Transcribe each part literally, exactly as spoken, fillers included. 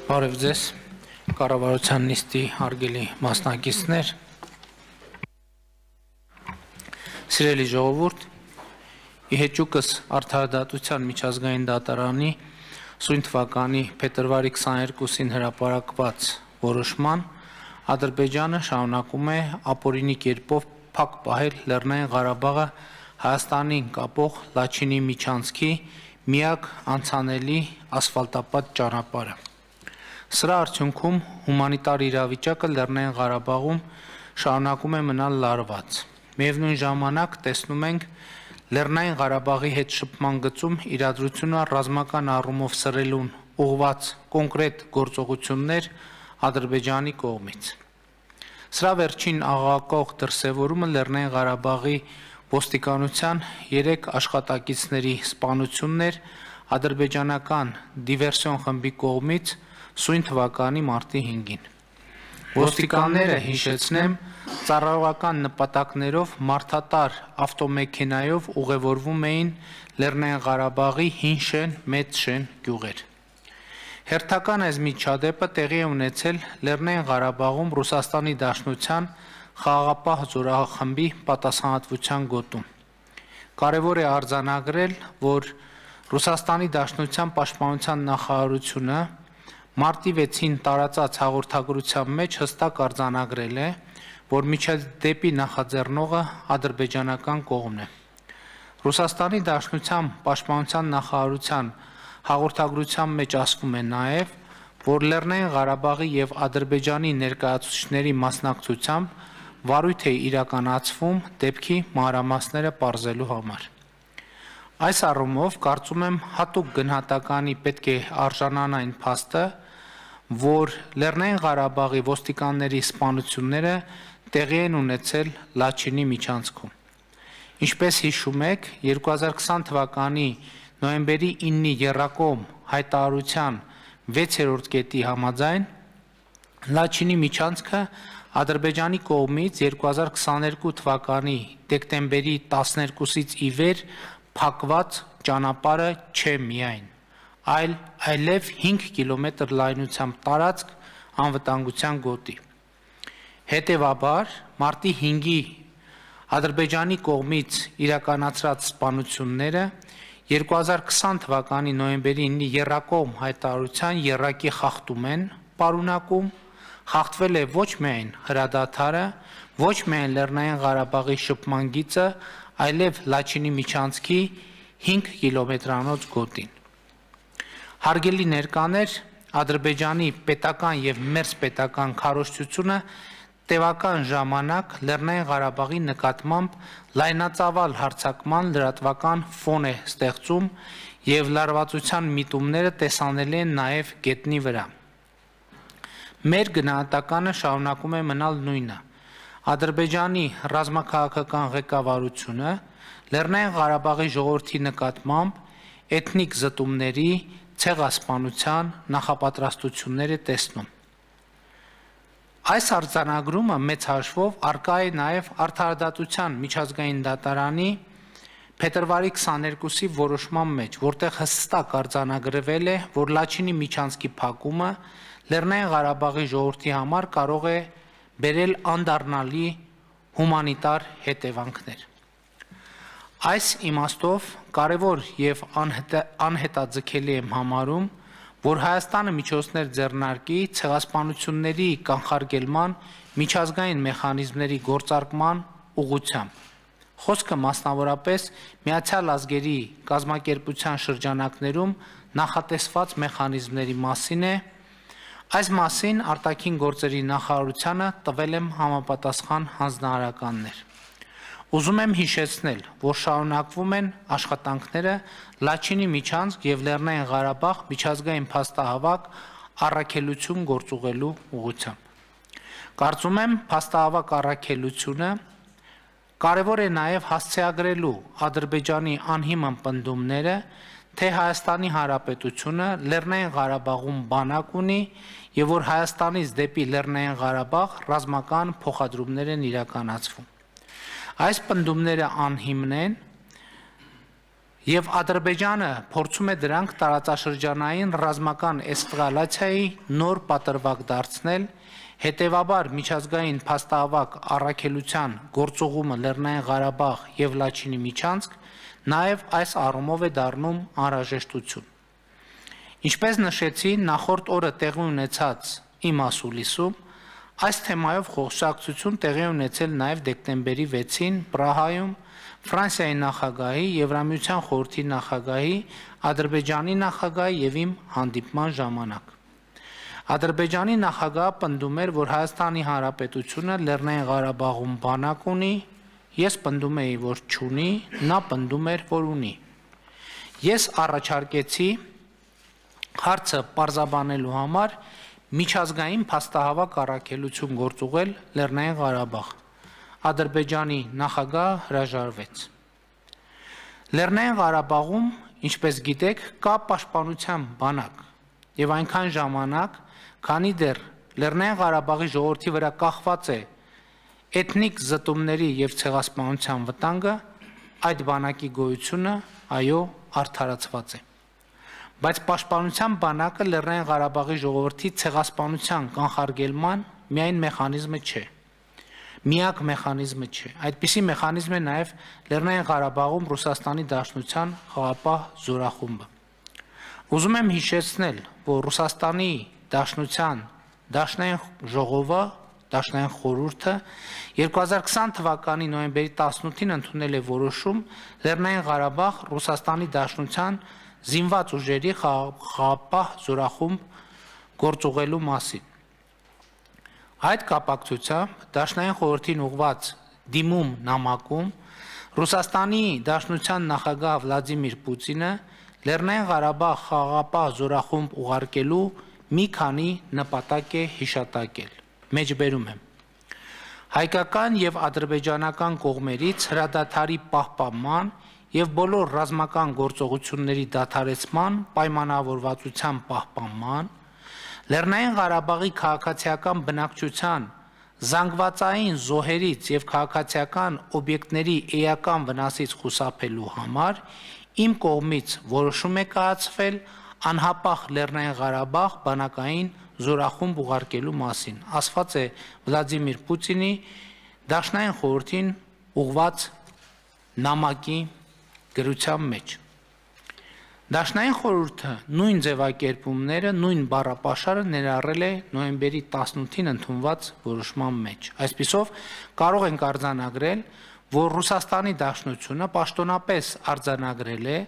Բարև ձեզ, կառավարության նիստի հարգելի մասնակիցներ, սիրելի ժողովուրդ, ի հեճուկս Արդարադատության միջազգային դատարանի սույն թվականի փետրվարի քսաներկուսին հրապարակված որոշման Ադրբեջանը շարունակում է ապօրինի կերպով փակ պահել Լեռնային Ղարաբաղը Հայաստանին կապող Լաչինի միջանցքի միակ անցանելի ասֆալտապատ ճանապարհը։ Սրա արդյունքում հումանիտար իրավիճակը Լեռնային Ղարաբաղում շարունակում է մնալ լարված։ Միևնույն ժամանակ տեսնում ենք Լեռնային Ղարաբաղի հետ շփման գծում իրադրությունը ռազմական առումով սրելուն ուղղված կոնկրետ գործողություններ Ադրբեջանի կողմից։ Սրա վերջին աղաղակող դրսևորումը Լեռնային Ղարաբաղի ոստիկանության երեք աշխատակիցների սպանությունն էր ադրբեջանական դիվերսիոն խմբի կողմից սույն թվականի մարտի հինգին։ Ոստիկանները, հիշեցնեմ, ծառայողական նպատակներով մարդատար ավտոմեքենայով ուղևորվում էին Լեռնային Ղարաբաղի հին շեն, մեծ շեն գյուղեր։ Հերթական այս միջադեպը տեղի է ունեցել Լեռնային Ղարաբաղում Ռուսաստանի Դաշնության խաղաղապահ զորախմբի պատասխանատվության գոտում։ Կարևոր է արձանագրել, որ Ռուսաստանի Դաշնության պաշտպանության նախարարությունը մարտի վեցին տարածած հաղորդագրության մեջ հստակ արձանագրել է, որ միջադեպի նախաձեռնողը ադրբեջանական կողմն է։ Ռուսաստանի Դաշնության պաշտպանության նախարարության հաղորդագրության մեջ ասվում է նաև, որ Լեռնային Ղարաբաղի եւ Ադրբեջանի ներկայացուցիչների մասնակցությամբ վարույթ է իրականացվում դեպքի մանրամասները պարզելու համար։ Այս առումով կարծում եմ հատուկ գնահատականի պետք է արժանան այն փաստը, որ Լեռնային Ղարաբաղի ոստիկանների սպանությունները տեղի են ունեցել Լաչինի միջանցքում։ Ինչպես հիշում եք, երկու հազար քսան թվականի նոյեմբերի իննի եռակողմ հայտարարության վեցերորդ կետի համաձայն Լաչինի միջանցքը Ադրբեջանի կողմից երկու հազար քսաներկու թվականի դեկտեմբերի տասներկուսից ի վեր փակված ճանապարհը չէ միայն, այլ այլև հինգ կիլոմետր լայնությամբ տարածք անվտանգության գոտի։ Հետևաբար, մարտի հինգի Ադրբեջանի կողմից իրականացրած սպանությունները երկու հազար քսան թվականի նոյեմբերի իննի եռակողմ հայտարարության եռակի խախտում են պարունակում, խախտվել է ոչ միայն հրադադարը, ոչ միայն Լեռնային Ղարաբաղի շփման գիծը, այլև Լաչինի միջանցքի հինգ կիլոմետրանոց գոտին։ Հարգելի ներկաներ, Ադրբեջանի պետական եւ մերձպետական քարոզչությունը տևական ժամանակ Լեռնային Ղարաբաղի նկատմամբ լայնածավալ հարձակման լրատվական ֆոն է ստեղծում եւ լարվածության միտումները տեսանելի են նաեւ գետնի վրա։ Մեր գնահատականը շարունակում է մնալ նույնը։ Ադրբեջանի ռազմաքաղաքական ղեկավարությունը Լեռնային Ղարաբաղի ժողովրդի նկատմամբ էթնիկ զտումների, ցեղասպանության նախապատրաստություններ է տեսնում։ Այս արձանագրումը մեծ հաշվով առկա է նաև Արդարադատության միջազգային դատարանի փետրվարի քսաներկուսի որոշման մեջ, որտեղ հստակ արձանագրվել է, որ Լաչինի միջանցքի փակումը Լեռնային Ղարաբաղի ժողովրդի համար կարող է բերել անդառնալի հումանիտար հետևանքներ։ Այս իմաստով կարևոր եւ անհետաձգելի եմ համարում, որ Հայաստանը միջոցներ ձեռնարկի ցեղասպանությունների կանխարգելման միջազգային մեխանիզմների գործարկման ուղղությամբ։ Խոսքը մասնավորապես Միացյալ Ազգերի կազմակերպության շրջանակներում նախատեսված մեխանիզմների մասին է։ Այս մասին արտաքին գործերի նախարարությանը տվել եմ համապատասխան հանձնարարականներ։ Ուզում եմ հիշեցնել, որ շարունակվում են աշխատանքները Լաչինի միջանցք եւ Լեռնային Ղարաբաղ միջազգային փաստահավաք առաքելություն գործուղելու ուղղությամբ։ Կարծում եմ, փաստահավաք առաքելությունը կարևոր է նաեւ հասցեագրելու Ադրբեջանի անհիմն պնդումները, թե Հայաստանի Հանրապետությունը Լեռնային Ղարաբաղում բանակ ունի եւ որ Հայաստանից դեպի Լեռնային Ղարաբաղ ռազմական փոխադրումներ են իրականացվում։ Այս պնդումները անհիմն են Եվ Ադրբեջանը փորձում է դրանք տարածաշրջանային ռազմական էսկալացիայի նոր պատրվակ դարձնել, հետևաբար միջազգային փաստահավաք առաքելության գործուղումը Լեռնային Ղարաբաղ եւ Լաչինի միջանցք նաեւ այս առումով է դառնում անհրաժեշտություն։ Ինչպես նշեցի, նախորդ օրը տեղի ունեցած իմ ասուլիսում այս թեմայով խոսակցություն տեղի ունեցել նաեւ դեկտեմբերի վեցին Պրահայում Ֆրանսիայի նախագահի, Եվրամիության խորհրդի նախագահի, Ադրբեջանի նախագահի եւ իմ հանդիպման ժամանակ։ Ադրբեջանի նախագահը պնդում էր, որ Հայաստանի Հանրապետությունը Լեռնային Ղարաբաղում բանակ ունի, ես պնդում էի, որ չունի, նա պնդում էր, որ ունի։ Ես առաջարկեցի հարցը պարզաբանելու համար միջազգային փաստահավաք առաքելություն գործուղել Լեռնային Ղարաբաղ։ Ադրբեջանի նախագահը հրաժարվեց։ Լեռնային Ղարաբաղում, ինչպես գիտեք, կա պաշտպանության բանակ եւ այնքան ժամանակ, քանի դեռ Լեռնային Ղարաբաղի ժողովրդի վրա կախված է էթնիկ զտումների եւ ցեղասպանության վտանգը, այդ բանակի գոյությունը այո արդարացված է։ Բայց պաշտպանության բանակը Լեռնային Ղարաբաղի ժողովրդի ցեղասպանության կանխարգելման միայն մեխանիզմը չէ։ Միակ մեխանիզմը չէ։ Այդպիսի մեխանիզմ է նաև Լեռնային Ղարաբաղում Ռուսաստանի Դաշնության խաղապահ զորախումբը։ Ուզում եմ հիշեցնել, որ Ռուսաստանի Դաշնության Դաշնային ժողովը, Դաշնային խորհուրդը երկու հազար քսան թվականի նոյեմբերի տասնութին ընդունել է որոշում Լեռնային Ղարաբաղ Ռուսաստանի Դաշնության զինված ուժերի խաղապահ զորախումբ գործուղելու մասին։ Այդ կապակցությամբ Դաշնային խորհրդին ուղղված դիմում նամակում Ռուսաստանի Դաշնության նախագահ Վլադիմիր Պուտինը Լեռնային Ղարաբաղ խաղապահ զորախումբ ուղարկելու մի քանի նպատակ է հիշատակել։ Մեջբերում եմ։ Հայկական եւ ադրբեջանական կողմերից հրադադարի պահպանման եւ բոլոր ռազմական գործողությունների դադարեցման պայմանավորվածության պահպանման, Լեռնային Ղարաբաղի քաղաքացիական բնակչության զանգվածային զոհերից եւ քաղաքացիական օբյեկտների էական վնասից խուսափելու համար իմ կողմից որոշում է կայացվել անհապաղ Լեռնային Ղարաբաղ բանակային զորախումբ ուղարկելու մասին, ասված է Վլադիմիր Պուտինի Դաշնային խորհրդին ուղված նամակի գրության մեջ։ Դաշնային խորհուրդը նույն ձևակերպումները, նույն բառապաշարը ներառել է նոյեմբերի տասնութին ընդունված որոշման մեջ։ Այսպիսով կարող ենք արձանագրել, որ Ռուսաստանի Դաշնությունը պաշտոնապես արձանագրել է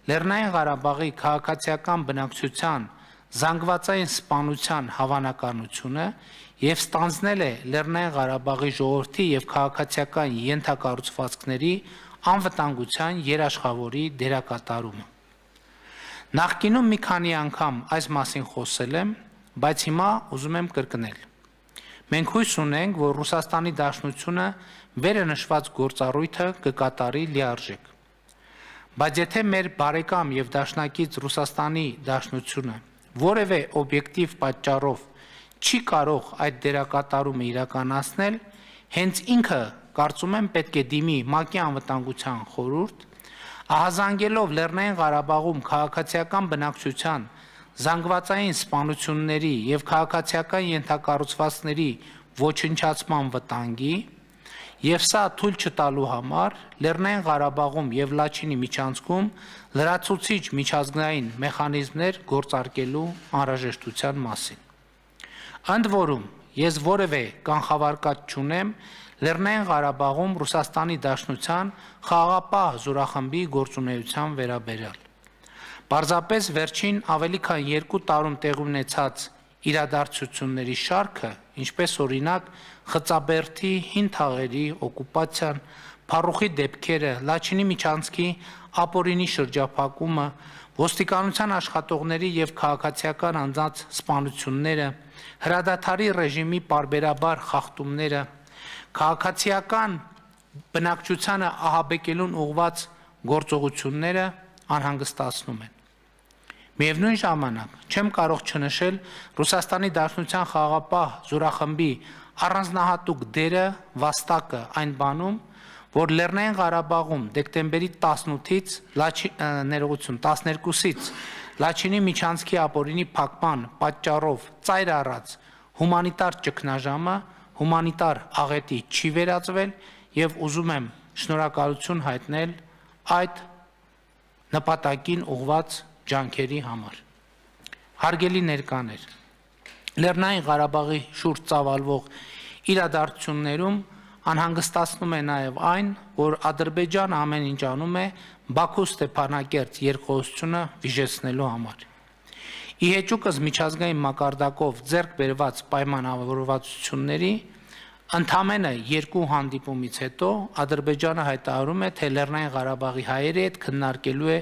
Լեռնային Ղարաբաղի քաղաքացիական բնակչության զանգվածային սպանության հավանականությունը եւ ստանձնել է Լեռնային Ղարաբաղի ժողովրդի եւ քաղաքացիական ենթակառուցվածքների անվտանգության երաշխավորի դերակատարումը։ Նախկինում մի քանի անգամ այս մասին խոսել եմ, բայց հիմա ուզում եմ կրկնել։ Մենք հույս ունենք, որ Ռուսաստանի Դաշնությունը վերը նշված գործառույթը կկատարի լիարժեք։ Բայց եթե մեր բարեկամ եւ դաշնակից Ռուսաստանի Դաշնությունը որևէ օբյեկտիվ պատճառով չի կարող այդ դերակատարումը իրականացնել, հենց ինքը կարծում եմ պետք է դիմի ՄԱԿ-ի անվտանգության խորհուրդ, ահազանգելով Լեռնային Ղարաբաղում քաղաքացիական բնակչության զանգվածային սպանությունների եւ քաղաքացիական ենթակառուցվածքների ոչնչացման վտանգի եւ սա թույլ չտալու համար Լեռնային Ղարաբաղում եւ Լաչինի միջանցքում լրացուցիչ միջազգային մեխանիզմներ գործարկելու անհրաժեշտության մասին։ Ընդ որում, ես որևէ կանխավարկած չունեմ Լեռնային Ղարաբաղում Ռուսաստանի Դաշնության խաղաղապահ զորախմբի գործունեության վերաբերյալ։ Պարզապես վերջին ավելի քան երկու տարում տեղի ունեցած իրադարձությունների շարքը, ինչպես օրինակ Խծաբերդի հին թաղերի օկուպացիան, Փարուխի դեպքերը, Լաչինի միջանցքի ապօրինի շրջափակումը, ոստիկանության աշխատողների եւ քաղաքացիական անձանց սպանությունները, հրադադարի ռեժիմի պարբերաբար խախտումները, քաղաքացիական բնակչությանը ահաբեկելուն ուղղված գործողությունները անհանգստացնում են։ Միևնույն ժամանակ չեմ կարող չնշել Ռուսաստանի Դաշնության խաղաղապահ զորախմբի առանձնահատուկ դերը վաստակը այն բանում, որ Լեռնային Ղարաբաղում դեկտեմբերի տասնութից ներողություն տասներկուսից Լաչինի միջանցքի ապօրինի փակման պատճառով ծայր առած հումանիտար ճգնաժամը հումանիտար աղետի չի վերածվել եւ ուզում եմ շնորհակալություն հայտնել այդ նպատակին ուղղված ջանքերի համար։ Հարգելի ներկաներ, Լեռնային Ղարաբաղի շուրջ ծավալվող իրադարձություններում անհանգստացնում է նաև այն, որ Ադրբեջանը ամեն ինչ անում է Բաքու Ստեփանակերտ երկխոսությունը վիժեցնելու համար։ Ի հեճուկս միջազգային մակարդակով ձեռք բերված պայմանավորվածությունների ընդամենը երկու հանդիպումից հետո Ադրբեջանը հայտարարում է, թե Լեռնային Ղարաբաղի հայերի հետ քննարկելու է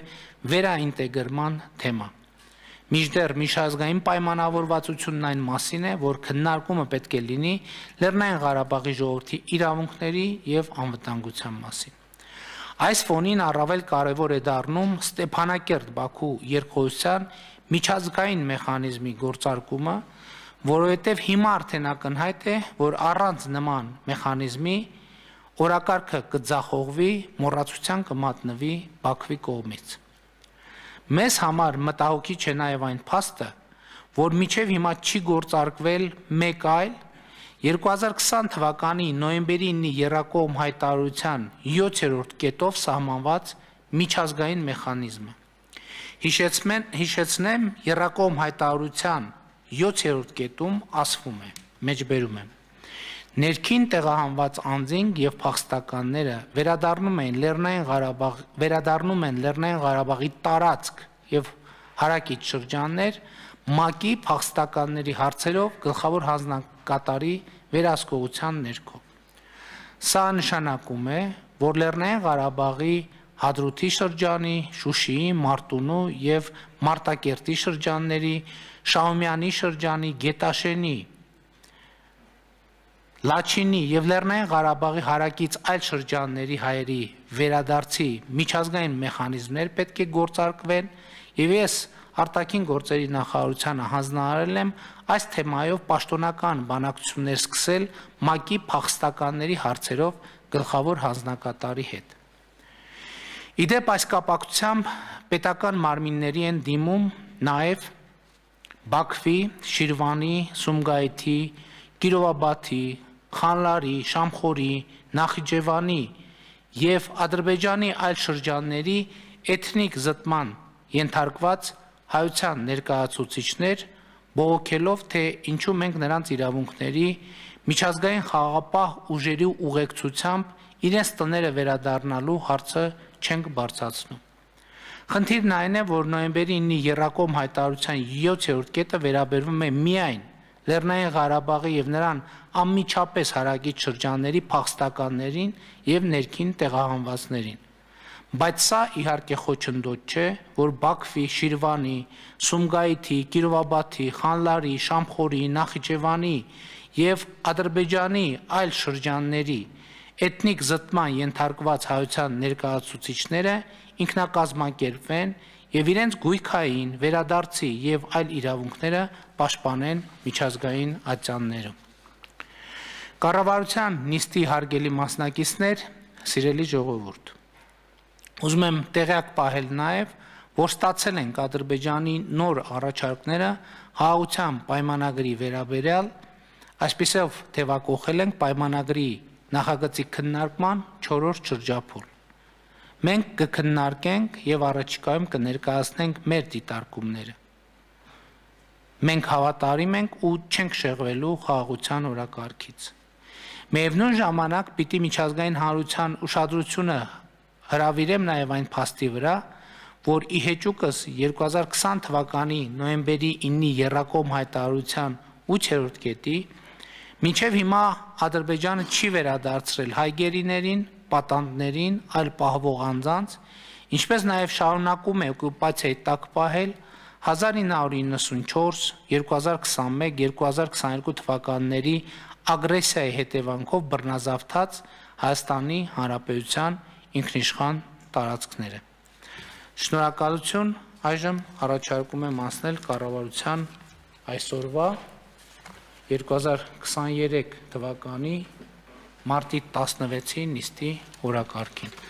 վերաինտեգրման թեմա։ Մինչդեռ միջազգային պայմանավորվածությունն այն մասին է, որ քննարկումը պետք է լինի Լեռնային Ղարաբաղի ժողովրդի իրավունքների եւ անվտանգության մասին։ Այս ֆոնին առավել կարևոր է դառնում Ստեփանակերտ-Բաքու երկխոսության միջազգային մեխանիզմի գործարկումը, որովհետև հիմա արդեն ակնհայտ է, որ առանց նման մեխանիզմի օրակարգը կձախողվի, մոռացության կմատնվի Բաքվի կողմից։ Մեզ համար մտահոգիչ է նաև այն փաստը, որ մինչև հիմա չի գործարկվել մեկ այլ երկու հազար քսան թվականի նոյեմբերի ինի եռակողմ հայտարարության յոթերորդ կետով սահմանված միջազգային մեխանիզմը։ Հիշեցնեմ, եռակողմ հայտարարության յոթերորդ կետում ասվում է, մեջբերում եմ. Ներքին տեղահանված անձինք եւ փախստականները վերադառնում են Լեռնային Ղարաբաղ, վերադառնում են Լեռնային Ղարաբաղի տարածք եւ հարակից շրջաններ ՄԱԿ-ի փախստականների հարցերով գլխավոր հանձնակատարի վերահսկողության ներքո։ Սա նշանակում է, որ Լեռնային Ղարաբաղի Հադրութի շրջանի, Շուշիի, Մարտունու եւ Մարտակերտի շրջանների, Շահումյանի շրջանի, Գետաշենի, Լաչինի եւ Լեռնային Ղարաբաղի հարակից այլ շրջանների հայերի վերադարձի միջազգային մեխանիզմներ պետք է գործարկվեն եւ ես արտաքին գործերի նախարարությանը հանձնարարել եմ այս թեմայով պաշտոնական բանակցություններ սկսել ՄԱԿ-ի փախստականների հարցերով գլխավոր հանձնակատարի հետ։ Իդեպ այս կապակցությամբ պետական մարմինների են դիմում նաև Բաքվի, Շիրվանի, Սումգայիթի, Կիրովաբադի, Խանլարի, Շամխորի, Նախիջևանի եւ Ադրբեջանի այլ շրջանների էթնիկ զտման ենթարկված հայության ներկայացուցիչներ բողոքելով, թե ինչու մենք նրանց իրավունքների միջազգային խաղաղապահ ուժերի ուղեկցությամբ իրենց տները վերադառնալու հարցը չենք բարձրացնում։ Խնդիրն այն է, որ նոյեմբերի ինի եռակողմ հայտարարության յոթերորդ կետը վերաբերվում է միայն Լեռնային Ղարաբաղի եւ նրան անմիջապես հարակից շրջանների փախստականներին եւ ներքին տեղահանվածներին։ Բայց սա իհարկե խոչընդոտ չէ, որ Բաքվի, Շիրվանի, Սումգայիթի, Կիրովաբադի, Խանլարի, Շամխորի, Նախիջևանի եւ Ադրբեջանի այլ շրջանների էթնիկ զտման ենթարկված հայության ներկայացուցիչները ինքնակազմակերպվեն եւ իրենց գույքային վերադարձի եւ այլ իրավունքները պաշտպանեն միջազգային ատյաններում։ Կառավարության նիստի հարգելի մասնակիցներ, սիրելի ժողովուրդ, ուզում եմ տեղյակ պահել նաև, որ ստացել ենք Ադրբեջանի նոր առաջարկները հաղորդության պայմանագրի վերաբերյալ, այսպիսով թևակողել ենք պայմանագրի նախագծի քննարկման չորրորդ շրջափուլ։ Մենք կքննարկենք եւ առաջիկայում կներկայացնենք մեր դիտարկումները։ Մենք հավատարիմ ենք ու չենք շեղվելու խաղաղության օրակարգից։ Միևնույն ժամանակ պիտի միջազգային հանրության ուշադրությունը հրավիրեմ նաև այն փաստի վրա, որ ի հեճուկս երկու հազար քսան թվականի նոյեմբերի ինի եռակողմ հայտարարության ութերորդ կետի մինչև հիմա Ադրբեջանը չի վերադարձրել հայ գերիներին, պատանդներին, այլ պահվող անձանց, ինչպես նաև շարունակում է օկուպացիայի տակ պահել հազար ինը հարյուր իննսունչորս, երկու հազար քսանմեկ, երկու հազար քսաներկու թվականների ագրեսիայի հետևանքով բռնազավթած Հայաստանի Հանրապետության ինքնիշխան տարածքները։ Շնորհակալություն, այժմ առաջարկում եմ անցնել կառավարության այսօրվա երկու հազար քսաներեք թվականի մարտի տասնվեցի նիստի օրակարգին։